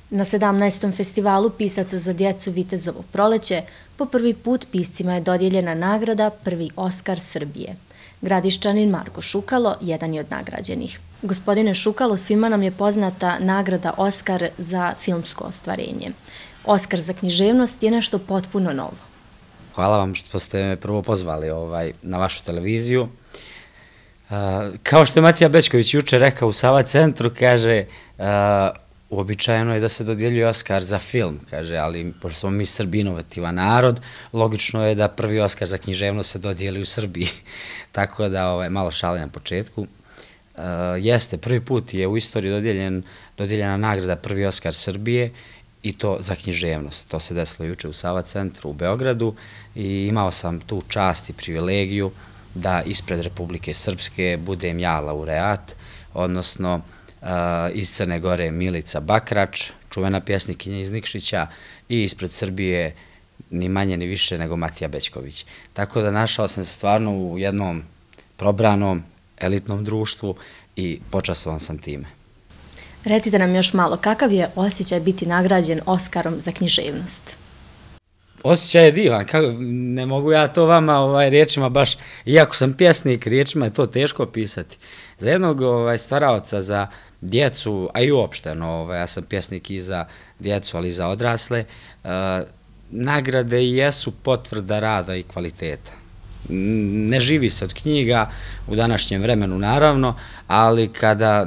Na 17. festivalu pisaca za djecu Vitezovo proleće po prvi put piscima je dodijeljena nagrada Prvi Oskar Srbije. Gradišćanin Marko Šukalo jedan je od nagrađenih. Gospodine Šukalo, svima nam je poznata nagrada Oskar za filmsko ostvarenje. Oskar za književnost je nešto potpuno novo. Hvala vam što ste me prvo pozvali na vašu televiziju. Kao što je Matija Bećković juče rekao u Sava centru, kaže, uobičajeno je da se dodjeljuje Oskar za film, kaže, ali pošto smo mi Srbi inovativan narod, logično je da prvi Oskar za književnost se dodijeli u Srbiji. Tako da, malo šale na početku. Jeste, prvi put je u istoriji dodijeljena nagrada Prvi Oskar Srbije i to za književnost. To se desilo juče u Sava centru u Beogradu i imao sam tu čast i privilegiju da ispred Republike Srpske budem ja laureat, odnosno iz Crne Gore Milica Bakrač, čuvena pjesnikinja iz Nikšića, i ispred Srbije ni manje ni više nego Matija Bećković. Tako da našao sam se stvarno u jednom probranom, elitnom društvu i počastovan sam time. Recite nam još malo, kakav je osjećaj biti nagrađen Oskarom za književnost? Osjećaj je divan, ne mogu ja to vama riječima baš, iako sam pjesnik, riječima je to teško pisati. Za jednog stvaraoca, za djecu, a i uopšteno, ja sam pjesnik i za djecu, ali i za odrasle, nagrade jesu potvrda rada i kvaliteta. Ne živi se od knjiga u današnjem vremenu, naravno, ali kada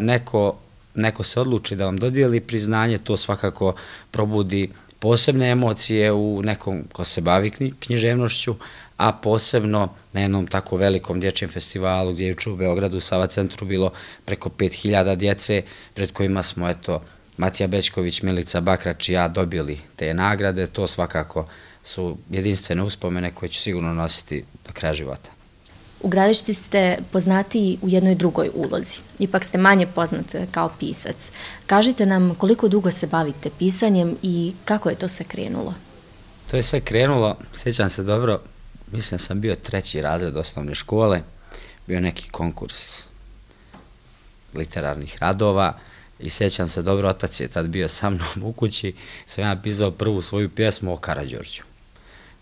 neko se odluči da vam dodijeli priznanje, to svakako probudi posebne emocije u nekom ko se bavi književnošću, a posebno na jednom tako velikom dječjem festivalu gdje je juče u Beogradu u Sava centru bilo preko 5000 djece, pred kojima smo, eto, Matija Bećković, Milica Bakrač i ja dobili te nagrade. To svakako su jedinstvene uspomene koje ću sigurno nositi do kraja života. U Gradišci ste poznatiji u jednoj drugoj ulozi, ipak ste manje poznat kao pisac. Kažite nam koliko dugo se bavite pisanjem i kako je to sve krenulo? To je sve krenulo, sjećam se dobro, mislim da sam bio 3. razred osnovne škole, bio neki konkurs literarnih radova i sjećam se dobro, otac je tad bio sa mnom u kući, sam ja napisao prvu svoju pjesmu o Karađorđu,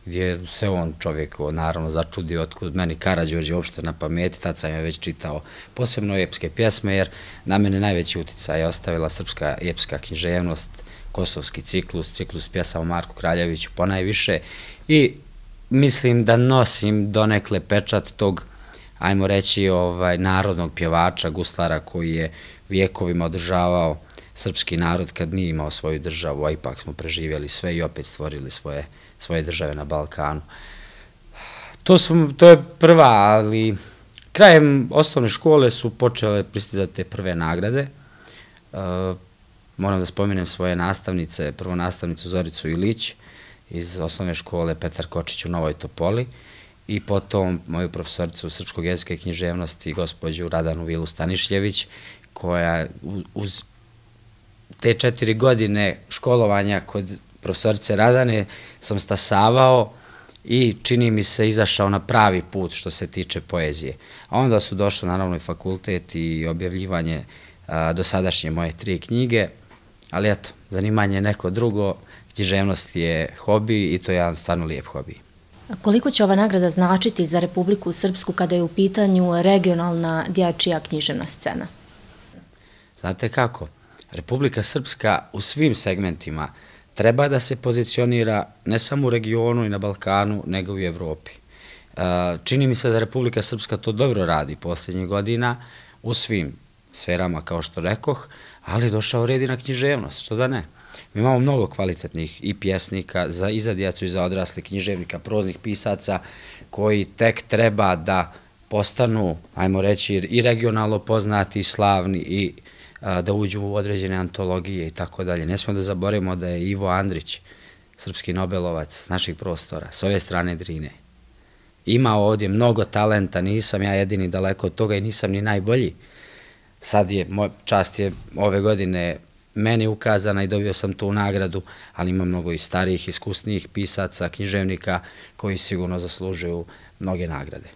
gdje se on čovjek naravno začudio otkud meni Karađorđe uopšte na pameti, tad sam je već čitao posebno epske pjesme, jer na mene najveći uticaj je ostavila srpska epska književnost, kosovski ciklus pjesama o Marku Kraljeviću ponajviše i mislim da nosim donekle pečat tog, ajmo reći, narodnog pjevača, guslara koji je vijekovima održavao srpski narod kad nije imao svoju državu, a ipak smo preživjeli sve i opet stvorili svoje države na Balkanu. To je prva, ali krajem osnovne škole su počele pristizati te prve nagrade. Moram da spomenem svoje nastavnice, prvo nastavnicu Zoricu Ilić iz osnovne škole Petar Kočić u Novoj Topoli i potom moju profesoricu srpskog jezika i književnosti gospođu Radanu Vilu Stanišljević, koja uz te 4 godine školovanja kod profesorice Radane sam stasavao i čini mi se izašao na pravi put što se tiče poezije. A onda su došli naravno i fakultet i objavljivanje dosadašnje moje 3 knjige, ali eto, zanimanje je neko drugo, književnost je hobi i to je jedan stvarno lijep hobi. Koliko će ova nagrada značiti za Republiku Srpsku kada je u pitanju regionalna dječja književna scena? Znate kako, Republika Srpska u svim segmentima treba da se pozicionira ne samo u regionu i na Balkanu, nego i u Evropi. Čini mi se da Republika Srpska to dobro radi posljednjih godina u svim sferama, kao što rekoh, ali došao red i na književnost, što da ne. Mi imamo mnogo kvalitetnih i pjesnika i za djecu i za odrasle, književnika, proznih pisaca koji tek treba da postanu, ajmo reći, i regionalno poznati, i slavni i da uđu u određene antologije i tako dalje. Ne smemo da zaboravimo da je Ivo Andrić, srpski Nobelovac s naših prostora, s ove strane Drine. Ima ovdje mnogo talenta, nisam ja jedini daleko od toga i nisam ni najbolji. Sad je, čast je ove godine meni ukazana i dobio sam tu nagradu, ali ima mnogo i starijih, iskusnijih pisaca, književnika koji sigurno zaslužuju mnoge nagrade.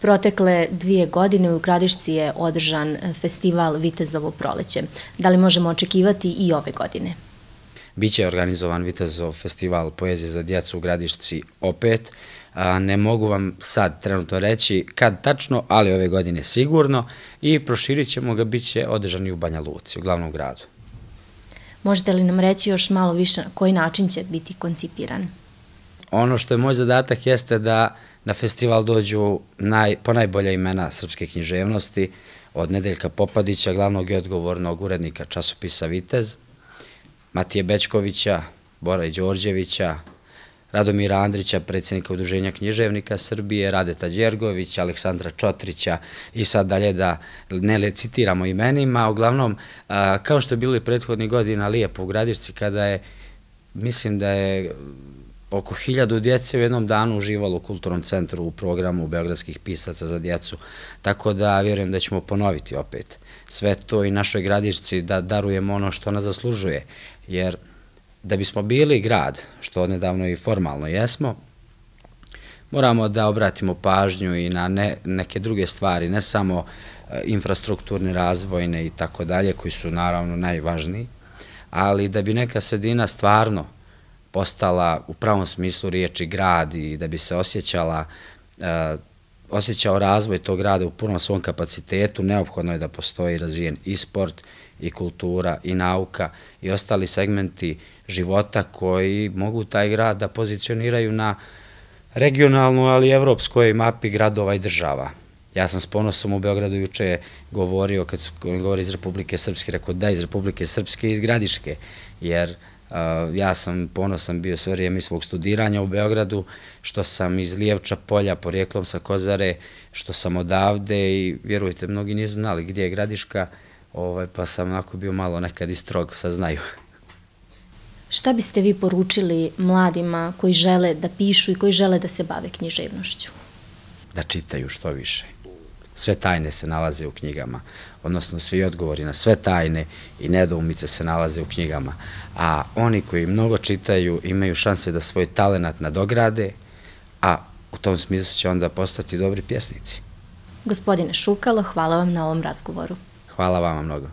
Protekle 2 godine u Gradišci je održan festival Vitezovo proleće. Da li možemo očekivati i ove godine? Biće organizovan Vitezov festival poezije za djecu u Gradišci opet. Ne mogu vam sad trenutno reći kad tačno, ali ove godine sigurno, i proširit ćemo ga, bit će održan i u Banja Luci, u glavnom gradu. Možete li nam reći još malo više na koji način će biti koncipiran? Ono što je moj zadatak jeste da na festival dođu ponajbolja imena srpske književnosti, od Nedeljka Popadića, glavnog i odgovornog urednika časopisa Vitez, Matije Bećkovića, Bora Đorđevića, Radomira Andrića, predsjednika Udruženja književnika Srbije, Radeta Đergovića, Aleksandra Čotrića i sad dalje da ne citiramo imenima. Uglavnom, kao što je bilo i prethodnih godina lijepo u Gradišci, kada je, mislim da je oko 1000 djece u jednom danu uživalo u Kulturnom centru u programu Beogradskih pisaca za djecu, tako da vjerujem da ćemo ponoviti opet sve to i našoj Gradišci da darujemo ono što ona zaslužuje, jer da bismo bili grad, što odnedavno i formalno jesmo, moramo da obratimo pažnju i na neke druge stvari, ne samo infrastrukturne, razvojne i tako dalje, koji su naravno najvažniji, ali da bi neka sredina stvarno postala u pravom smislu riječi grad i da bi se osjećao razvoj tog grada u punom svom kapacitetu, neophodno je da postoji razvijen i sport, i kultura, i nauka, i ostali segmenti života koji mogu taj grad da pozicioniraju na regionalnu, ali i evropskoj mapi gradova i država. Ja sam s ponosom u Beogradu juče govorio, kad su govori iz Republike Srpske, rekao da iz Republike Srpske i iz Gradiške, jer ja sam ponosan bio sve vrijeme svog studiranja u Beogradu, što sam iz Lijevča polja, porijeklom sa Kozare, što sam odavde i vjerujte, mnogi nisu znali gdje je Gradiška, pa sam onako bio malo nekad i strog, sad znaju. Šta biste vi poručili mladima koji žele da pišu i koji žele da se bave književnošću? Da čitaju što više. Sve tajne se nalaze u knjigama, odnosno svi odgovori na sve tajne i nedoumice se nalaze u knjigama, a oni koji mnogo čitaju imaju šanse da svoj talenat nadograde, a u tom smislu će onda postati dobri pjesnici. Gospodine Šukalo, hvala vam na ovom razgovoru. Hvala vama mnogo.